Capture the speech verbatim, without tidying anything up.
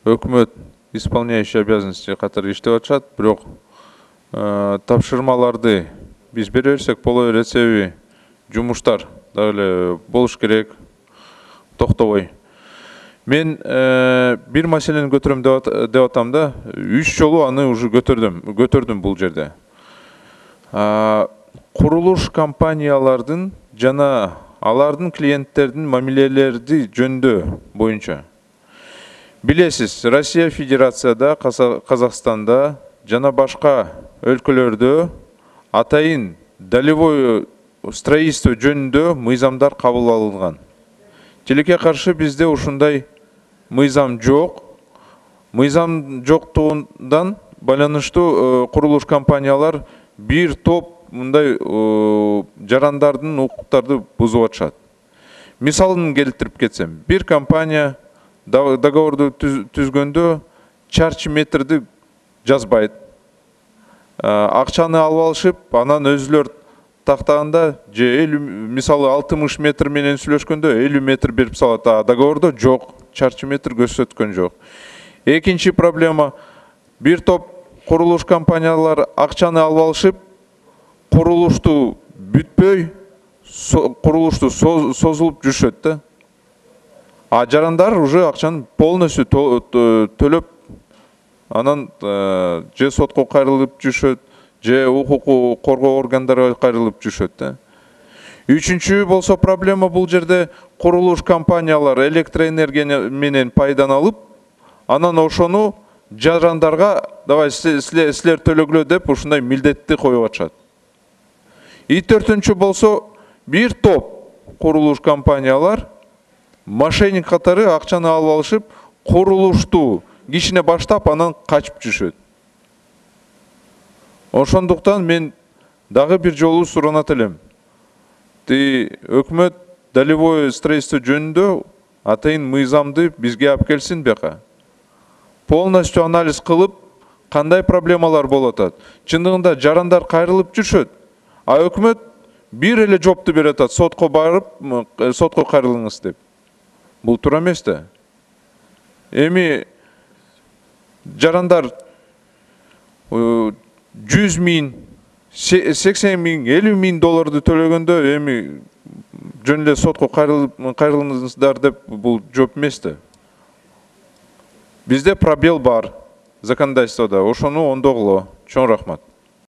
өкмөт исполняющий обязанности катары иштеп атышат, бирок тапшырмаларды биз бере берсек боло берет, себеби жумуштар дагы эле болуш керек, токтобой. Мен бир маселени көтөрөм деп атам да, үч жолу аны уже көтөрдүм, көтөрдүм бул жерде. Курулуш компаниялардын жана алардын клиенттердин мамилелери жөнүндө боюнча. Билесиз, Россия Федерацияда, Казакстанда жана башка өлкөлөрдө атайын долевое строительство жөнүндө мыйзамдар кабыл алынган. Тилекке каршы бизде ушундай мыйзам жок. Мыйзам жоктугундан байланыштуу курулуш компаниялар бир топ мындай жарандардын укуктарды бузуп атышат. Мисалын келтирип кетсем, бир компания договорду түзгөндө чарчы метрди жазбайт. Акчаны алып алышып, анан өзүлөр тактаганда же мисалы алтымыш метр менен сүйлөшкөндө элүү метр берип салат, а договордо жок, чарчы метр көрсөткөн жок. Экинчи проблема, бир топ курулуш компаниялар акчаны алып алышып, курулушту бүтпөй, курулушту созулуп жүрүшөт да. А жарандар уже акчаны полностью төлөп, анан же сотко кайрылып жүрүшөт, же укук коргоо органдарына кайрылып жүрүшөт да. Үчүнчү болсо проблема бул жерде курулуш компаниялар электроэнергия менен пайдан алып, анан ошону жарандарга давай силер төлөгүлө деп ушундай милдетти коюп атышат. И төртүнчү болсо бир топ курулуш компаниялар мошенник катары акчаны алып алышып, курулушту кичине баштап, анан качып жүрүшөт. Ошондуктан мен дагы бир жолу суранат элем. Өкмөт долевое строительство жөнүндө атайын мыйзамды бизге алып келсин бияка. Полностью анализ кылып, кандай проблемалар болуп атат. Чындыгында жарандар кайрылып жүрүшөт, а өкмөт бир эле жоопту берип атат, сотко барып, сотко кайрылыңыз деп. Бул туура эмес да. Эми жарандар жүз миң, сексен миң, элүү миң долларды төлөгөндө эми жөн эле сотко кайрылыңыздар деп бул жооп эмес да. Бизде пробел бар законодательствода, ошону оңдогуло. Чоң рахмат.